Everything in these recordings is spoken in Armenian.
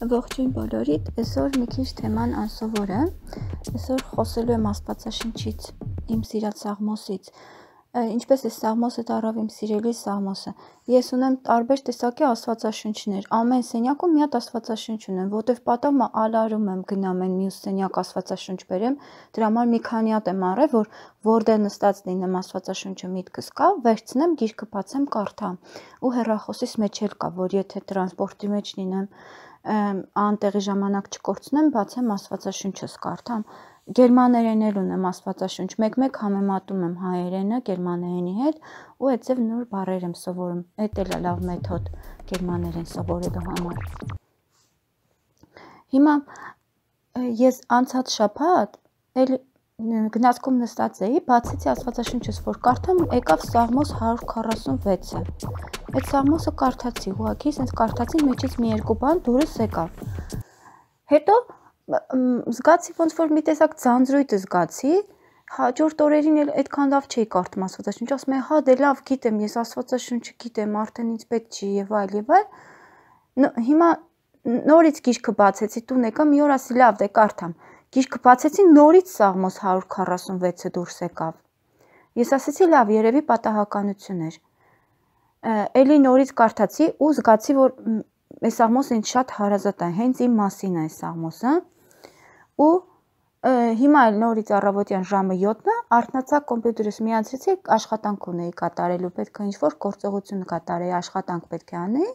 Ողջույն բոլորիդ, այսօր մի քիչ թեման անսովոր է, այսօր խոսելու եմ Աստվածաշնչից, իմ սիրած Սաղմոսից, ինչպես է Սաղմոսը տարավ իմ սիրելի Սաղմոսը, ես ունեմ տարբեր տեսակի Աստվածաշնչներ, ամեն սենյակում մի հատ Աստվածաշնչ ունեմ, որտև պատահում է ալարում եմ գնամ այն մյուս սենյակ Աստվածաշնչ բերեմ, դրա համար մի քանի հատ եմ առել, որ որտեղ նստած լինեմ Աստվածաշունչը միտքս կա, վերցնեմ, գիրքը բացեմ, կարդամ, ու հեռախոսիս մեջ էլ կա, որ եթե տրանսպորտի մեջ լինեմ, անտեղի ժամանակ չկորցնեմ, բացեմ Աստվածաշունչս կարդամ, գերմաներեն էլ ունեմ Աստվածաշունչ, մեկ-մեկ համեմատում եմ հայերենը գերմաներենի հետ ու այդպես նոր բառեր եմ սովորում, այդ էլ է լավ մեթոդ գերմաներեն սովորելու համար։ Հիմա ես անցած շաբաթ էլ գնացքում նստած էի, բացեցի Աստվածաշունչս, որ կարդամ, եկավ Սաղմոս 146-ը, այդ Սաղմոսը կարդացի, ուղղակի sense կարդացի, մեջից մի երկու բան դուրս եկավ, հետո զգացի ոնց որ մի տեսակ ձանձրույթ զգացի, հաջորդ օրերին էլ այդքան լավ չէի կարդում Աստվածաշունչ, ասում եմ, հա դե լավ գիտեմ, ես Աստվածաշունչը գիտեմ, արդեն ինձ պետք չի եւ այլ, հիմա նորից գիրքը բացեցի, տուն եկա, մի օր ասի լավ դե կարդամ, գիրքը բացեցի, նորից Սաղմոս 146-ը դուրս եկավ, ես ասեցի լավ, երևի պատահականություն էր, էլի նորից կարդացի ու զգացի, որ այս Սաղմոսը ինձ շատ հարազատ է, հենց իմ մասին է այս Սաղմոսը, ու հիմա էլ նորից առավոտյան ժամը 7-ը արթնացա կոմպյուտերս միացրեցի, աշխատանք ունեի կատարելու, պետք է ինչ-որ գործողություն կատարեի, աշխատանք պետք է անեի,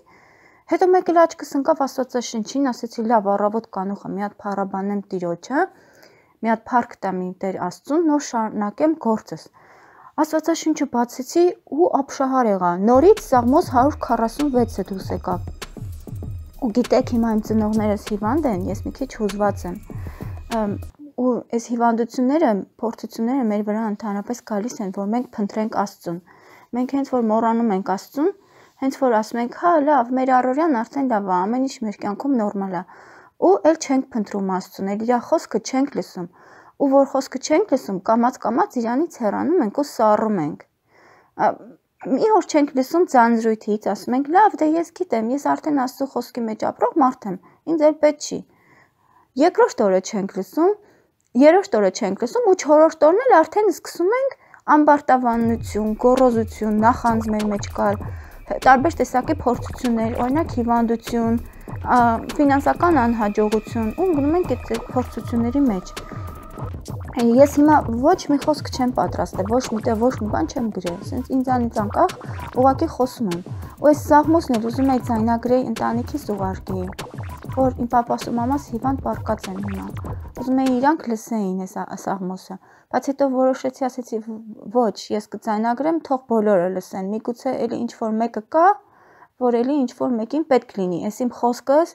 հետո մեկ էլ աչքս ընկավ Աստվածաշնչին, ասեցի լավ առավոտ կանուխը մի հատ փառաբանեմ Տիրոջը, մի հատ փառք տամ իմ Տեր Աստծուն, նոր շարունակեմ գործս։ Աստվածաշունչը բացեցի ու ապշահար եղա, նորից Սաղմոս 146-ը դուրս եկավ։ Ու գիտեք, հիմա իմ ծնողներս հիվանդ են, ես մի քիչ հուզված եմ։ Ու այս հիվանդությունները, փորձությունները մեր վրա ընդհանրապես գալիս են, որ մենք փնտրենք Աստծուն։ Մենք հենց որ մոռանում ենք Աստծուն, հենց որ ասում ենք, հա, լավ, մեր առօրյան արդեն լավ է, ամեն ինչ մեր կյանքում նորմալ է։ Ու էլ չենք փնտրում Աստծուն, էլ իր խոսքը չենք լսում։ Ու որ խոսքը չենք լսում, կամաց իրանից հեռանում ենք ու սառում ենք։ Մի օր չենք լսում ձանձրույթից, ասում ենք, լավ, դե ես գիտեմ, ես արդեն Աստծո խոսքի մեջ ապրող մարդ եմ, ինձ էլ պետք չի։ Երկրորդ օրը չենք լսում, երրորդ օրը չենք լսում ու չորրորդ օրն էլ արդեն սկսում ենք ամբարտավանություն, գոռոզություն, նախանձ մեր մեջ կար, տարբեր տեսակի փորձություններ, օրինակ հիվանդություն, ֆինանսական անհաջողություն, ու գնում ենք այդ փորձությունների մեջ։ Ես հիմա ոչ մի խոսք չեմ պատրաստել, ոչ միտեղ ոչ մի բան չեմ գրել, ասենց ինձանից անկախ ուղղակի խոսում եմ։ Ու այս Սաղմոսն էլ ուզում եի ձայնագրեի ընտանիքիս ուղարկեի, որ իմ պապաս ու մամաս հիվանդ պառկած են հիմա։ Ուզում եի իրանք լսեին այս Սաղմոսը, բայց հետո որոշեցի, ասեցի ոչ, ես կձայնագրեմ, թող բոլորը լսեն, միգուցե էլի ինչ-որ մեկը կա, որ էլի ինչ-որ մեկին պետք լինի, այս իմ խոսքս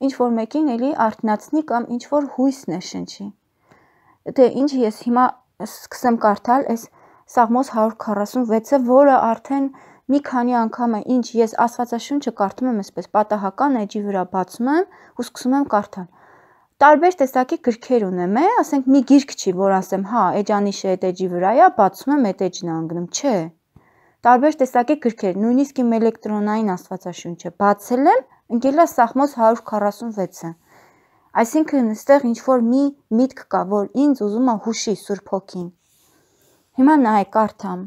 ինչ-որ մեկին էլի արթնացնի կամ ինչ-որ հույս ներշնչի։ Դե ինչ ես հիմա սկսեմ կարդալ այս Սաղմոս 146-ը, որը արդեն մի քանի անգամ է, ինչ ես Աստվածաշունչը կարդում եմ այսպես պատահական էջի վրա բացում եմ ու սկսում եմ կարդալ։ Տարբեր տեսակի գրքեր ունեմ, ասենք մի գիրք չի, որ ասեմ, հա, էջանիշը այդ էջի վրա է, բացում եմ այդ էջն անգնում, չէ։ Տարբեր տեսակի գրքեր, նույնիսկ իմ էլեկտրոնային Աստվածաշունչը բացել եմ, ընկել է Սաղմոս 146-ը։ Այսինքն այստեղ ինչ-որ մի միտք կա, որ ինձ ուզում է հուշի Սուրբ Հոգին։ Հիմա նայ կարդամ։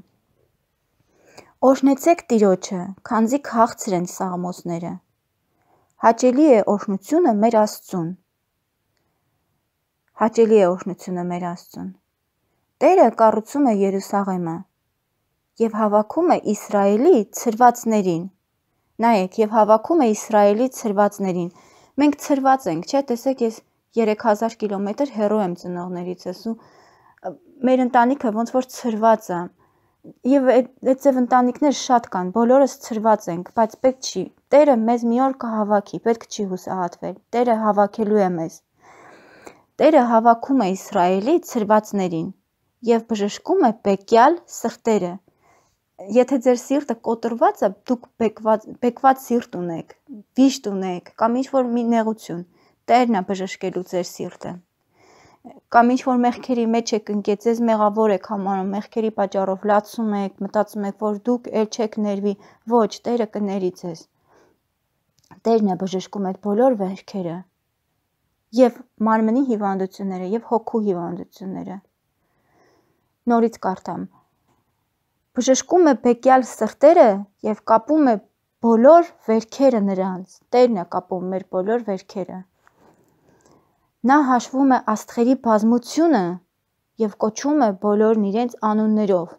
Օրհնեցեք Տիրոջը, քանզի քաղցր են սաղմոսները։ Հաճելի է օրհնությունը մեր Աստծուն։ Հաճելի է օրհնությունը մեր Աստծուն։ Տերը կառուցում է Երուսաղեմը եւ հավաքում է Իսրայելի ցրվածներին։ Նայեք, եւ հավաքում է Իսրայելի ցրվածներին։ Մենք ցրված ենք, չէ՞, տեսեք, ես 3000 կիլոմետր հեռու եմ ծնողներից, ու մեր ընտանիքը ոնց որ ցրված է։ Եվ այդտեղ ընտանիքներ շատ կան, բոլորս ցրված ենք, բայց պետք չի։ Տերը մեզ մի օր կհավաքի, պետք չի հուսահատվել։ Տերը հավաքելու է մեզ։ Տերը հավաքում է Իսրայելի ցրվածներին եւ բժշկում է բեկյալ սրտերը։ Եթե ձեր սիրտը կոտրված է, դուք բեկված սիրտ ունեք, վիշտ ունեք, կամ ինչ-որ մի նեղություն, Տերն է բժշկելու ձեր սիրտը։ Կամ ինչ-որ մեղքերի մեջ եք ընկել, ձեզ մեղավոր եք համարում, մեղքերի պատճառով լացում եք, մտածում եք, որ դուք էլ չեք ներվի, ոչ, Տերը կների ձեզ։ Տերն է բժշկում այդ բոլոր վերքերը, եւ մարմնի հիվանդությունները, եւ հոգու հիվանդությունները։ Նորից կարդամ. բժշկում է բեկյալ սրտերը եւ կապում է բոլոր վերքերը նրանց։ Տերն է կապում մեր բոլոր վերքերը։ Նա հաշվում է աստղերի բազմությունը եւ կոչում է բոլորն իրենց անուններով։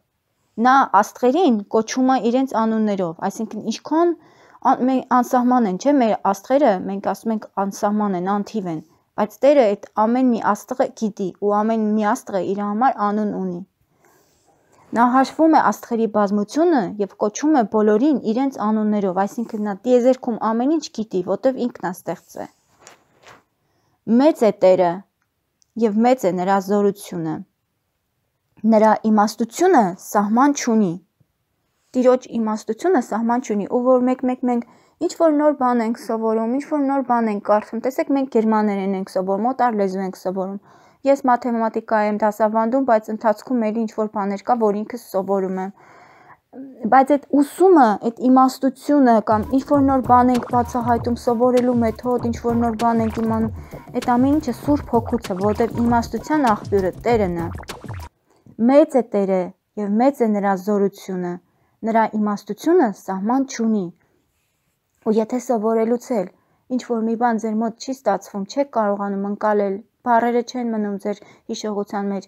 Նա աստղերին կոչում է իրենց անուններով, այսինքն ինչքան անսահման են, չէ՞, մեր աստղերը, մենք ասում ենք անսահման են, անթիվ են, բայց Տերը այդ ամեն մի աստղը գիտի ու ամեն մի աստղը իր համար անուն ունի։ Նա հաշվում է աստղերի բազմությունը եւ կոչում է բոլորին իրենց անուններով, այսինքն նա տիեզերքում ամեն ինչ գիտի, որտեվ ինքն է ստեղծել։ Մեծ է Տերը եւ մեծ է նրա զորությունը։ Նրա իմաստությունը սահման չունի։ Տիրոջ իմաստությունը սահման չունի, ու որ մենք ինչ որ նոր բան ենք սովորում, ինչ որ նոր բան ենք կարդում, տեսեք մենք գերմաներեն ենք սովորում, օտար լեզու ենք սովորում։ Ես մաթեմատիկա եմ դասավանդում, բայց ընթացքում էլի ինչ որ բաներ կա, որ ինքս սովորում եմ։ Բայց այդ ուսումը, այդ իմաստությունը կամ ինչ որ նոր բան ենք բացահայտում, սովորելու մեթոդ, ինչ որ նոր բան ենք իմանում, այդ ամեն ինչը Սուրբ Հոգուց է, որտեղ իմաստության աղբյուրը Տերն է։ Մեծ է Տերը եւ մեծ է նրա զորությունը։ Նրա իմաստությունը սահման չունի։ Ու եթե սովորելուց էլ ինչ որ մի բան ձեր մոտ չի ստացվում, չեք կարողանում ընկալել, բառերը չեն մնում ձեր հիշողության մեջ,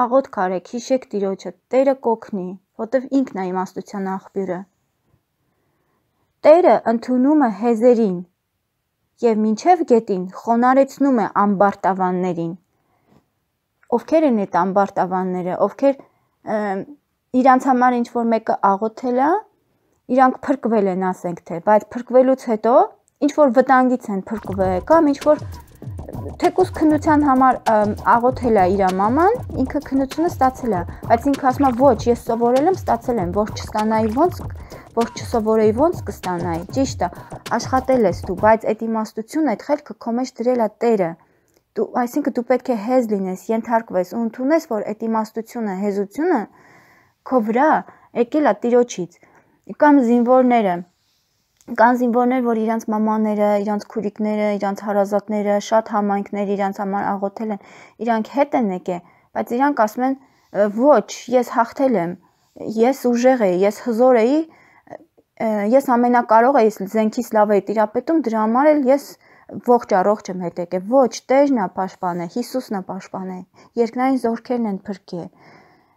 աղոթք արեք, հիշեք Տիրոջը, Տերը կօգնի, որտեվ ինքն է իմաստության աղբյուրը։ Տերը ընդունում է հեզերին եւ մինչև գետին խոնարեցնում է ամբարտավաններին։ Ովքեր են այդ ամբարտավանները, ովքեր իրանց համար ինչ որ մեկը աղոթել է, իրանք փրկվել են, ասենք թե, բայց փրկվելուց հետո ինչ որ վտանգից են փրկվել, կամ ինչ որ թեկուզ քննության համար աղոթել է իր մաման, ինքը քննությունը ստացել է, բայց ինքը ասում է ոչ, ես սովորել եմ, ստացել եմ, որ չստանայի ոնց, որ չսովորեի ոնց կստանայի, ճիշտ է, աշխատել ես դու, բայց այդ իմաստությունը, այդ խելքը քո մեջ դրել է Տերը։ Այսինքն դու պետք է հեզ լինես, ենթարկվես ու ընդունես, որ այդ իմաստությունը, հեզությունը քո վրա եկել է Տիրոջից։ Կամ զինվորները, կան զինվորներ, որ իրանց մամաները, իրանց քուրիկները, իրանց հարազատները, շատ համայնքներ իրանց համար աղոթել են, իրանք հետ են եկել, բայց իրանք ասում են ոչ, ես հաղթել եմ, ես ուժեղ էի, ես հզոր էի, ես ամենակարող էի, զենքիս լավ էի տիրապետում, դրա համար էլ ես ողջ առողջ եմ հետ եկել, ոչ, Տերն է պաշտպանել, Հիսուսն է պաշտպանել, երկնային զորքերն են փրկել,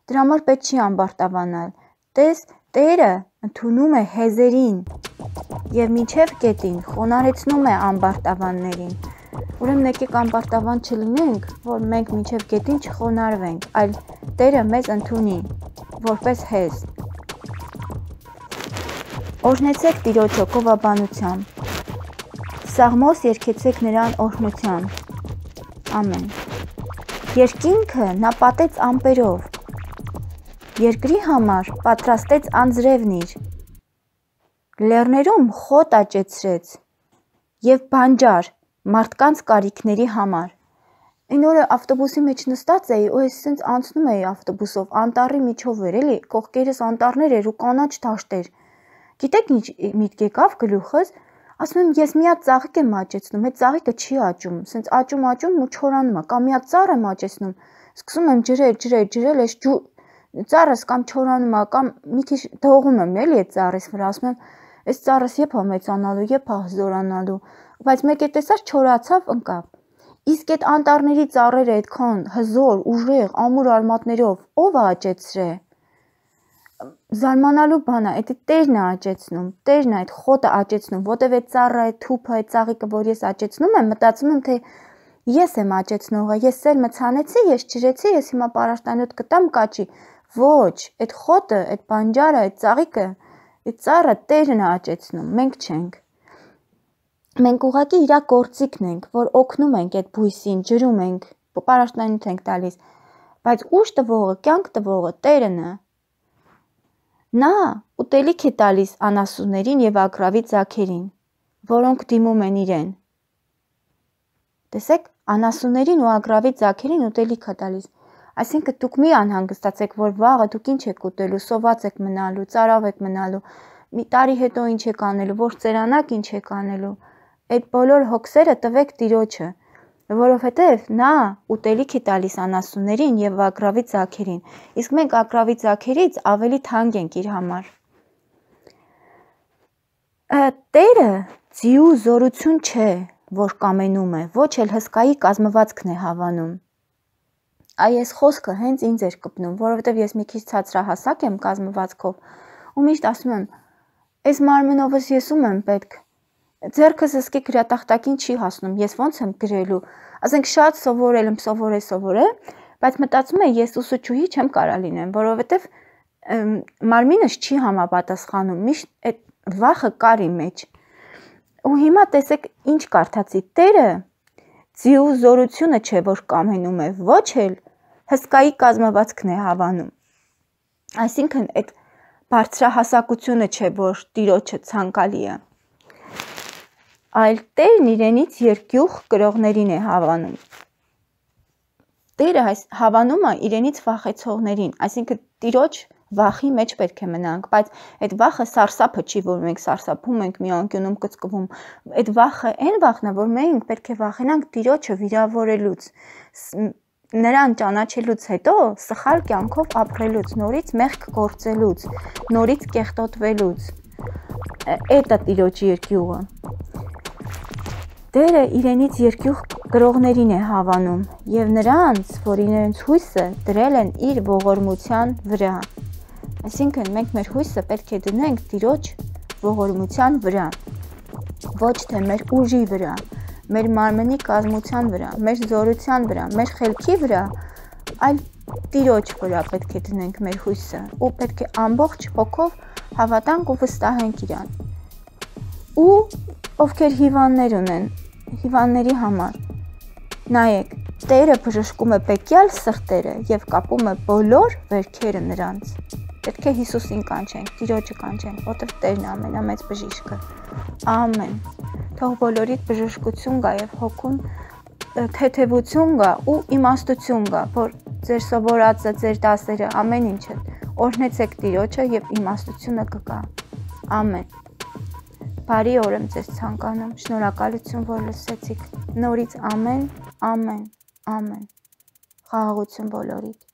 դրա համար պետք չի ամբարտավանալ, տես, Տերը ընդունում է հեզերին եւ մինչև գետին խոնարեցնում է ամբարտավաններին, ուրեմն եկեք ամբարտավան չլինենք, որ մենք մինչև գետին չխոնարհվենք, այլ Տերը մեզ ընդունի, որպես հեզ։ Օրհնեցեք Տիրոջ հոգովաբանությամբ, Սաղմոս երգեցեք նրան օրհնությամբ, ամեն։ Երկինքը նա պատեց ամպերով, երկրի համար պատրաստեց անձրևնիր, լեռներում խոտ աճեցրեց եւ բանջար մարդկանց կարիքների համար։ Այն օրը ավտոբուսի մեջ նստած էի, ու ես ասենց անցնում էի ավտոբուսով, անտառի միջով էր, էլի, կողքերս անտառներ էր ու կանաչ դաշտեր։ Գիտեք ինչ միտք եկավ գլուխս, ասում եմ ես մի հատ ծաղիկ եմ աճեցնում, այդ ծաղիկը չի աճում, ասենց աճում ու չորանում է, կամ մի հատ ծառ եմ աճեցնում, սկսում եմ ջրել, այս ծառս կամ չորանում է, կամ մի քիչ դողում եմ, էլի այդ ծառից վրա, ասում եմ այս ծառս երբ է մեծանալու, երբ է զորանալու, բայց մեկ է տեսար չորացավ, ընկավ։ Իսկ այդ անտառների ծառերը այդքան հզոր, ուժեղ, ամուր արմատներով ով է աճեցրել։ Զարմանալու բան է, այդ Տերն է աճեցնում, Տերն է այդ խոտը աճեցնում, որտեվ այդ ծառը, այդ թուփը, այդ ծաղիկը, որ ես աճեցնում եմ, մտածում եմ, թե ես եմ աճեցնողը, ես սերմը ցանեցի, ես ջրեցի, ես հիմա պարարտանյութ կտամ կաճի։ Ոչ, այդ խոտը, այդ բանջարը, այդ ծաղիկը, այդ ծառը Տերն է աճեցնում, մենք չենք։ Մենք ուղղակի իր գործիքն ենք, որ օգնում ենք այդ բույսին, ջրում ենք, պարարտանյութ ենք տալիս, բայց ուժ տվողը, կյանք տվողը Տերն է։ Նա ուտելիք է տալիս անասուններին եւ ագռավի ձագերին, որոնք դիմում են իրեն։ Տեսեք, անասուններին ու ագռավի ձագերին ուտելիք է տալիս։ Այսինքն դուք մի անհանգստացեք, որ վաղը դուք ինչ եք ուտելու, սոված եք մնալու, ծարավ եք մնալու, մի տարի հետո ինչ եք անելու, որ ծերանաք ինչ եք անելու։ այդ բոլոր հոգսերը տվեք Տիրոջը, որովհետև նա ուտելիք է տալիս անասուններին եւ ագռավի ձագերին, իսկ մենք ագռավի ձագերից ավելի թանկ ենք իր համար։ Տերը ձիու զորություն չէ, որ կամենում է, ոչ էլ հսկայի կազմվածքն է հավանում։ Այս խոսքը հենց ինձ էր կպնում, որովհետև ես մի քիչ ցածրահասակ եմ կազմվածքով ու միշտ ասում եմ, այս մարմնովս ես ում եմ պետք։ Ձեռքս ըսկի գրատախտակին չի հասնում, ես ոնց եմ գրելու։ Ասենք շատ սովորել եմ, սովորել, բայց մտածում եմ ես ուսուցչուհի չեմ կարա լինեմ, որովհետև մարմինս չի համապատասխանում, միշտ այդ վախը կար իմ մեջ։ Ու հիմա տեսեք ինչ կարդացի, Տերը ձիու զորությունը չէ, որ կամենում է, ոչ էլ հսկայի կազմվածքն է հավանում։ Այսինքն այդ բարձրահասակությունը չէ, որ Տիրոջը ցանկալի է, այլ Տերն իրենից երկյուղ կրողներին է հավանում։ Տերը հավանումը իրենից վախեցողներին, այսինքն Տիրոջ վախի մեջ պետք է մնանք, բայց այդ վախը սարսափը չի, որ մենք սարսափում ենք, մի անկյունում կծկվում, այդ վախը այն վախն է, որ մենք պետք է վախենանք Տիրոջը վիրավորելուց, նրան ճանաչելուց հետո սխալ կյանքով ապրելուց, նորից մեղք գործելուց, նորից կեղտոտվելուց, այդ է Տիրոջի երկյուղը։ Տերը իրենից երկյուղ կրողներին է հավանում և նրանց, որ իրենց հույսը դրել են իր ողորմության վրա։ Այսինքն մենք մեր հույսը պետք է դնենք Տիրոջ ողորմության վրա, ոչ թե մեր ուժի վրա, մեր մարմնի կազմության վրա, մեր զորության վրա, մեր խելքի վրա, այլ Տիրոջ վրա պետք է դնենք մեր հույսը ու պետք է ամբողջ հոգով հավատանք ու վստահենք իրան։ Ու ովքեր հիվանդներ ունեն, հիվանդների համար, նայեք, Տերը բժշկում է բեկյալ սրտերը և կապում է բոլոր վերքերը նրանց։ Պետք է Հիսուսին կանչենք, Տիրոջը կանչենք, որտև Տերն է ամենամեծ բժիշկը։ Ամեն։ Թող բոլորիդ բժշկություն գա և հոգուն թեթևություն գա ու իմաստություն գա, որ ձեր սովորածը, ձեր դասերը, ամեն ինչը օրհնեցեք Տիրոջը և իմաստությունը կգա։ Ամեն։ Բարի օր եմ ձեզ ցանկանում, շնորհակալություն, որ լսեցիք, նորից ամեն, ամեն, ամեն, խաղաղություն բոլորիդ։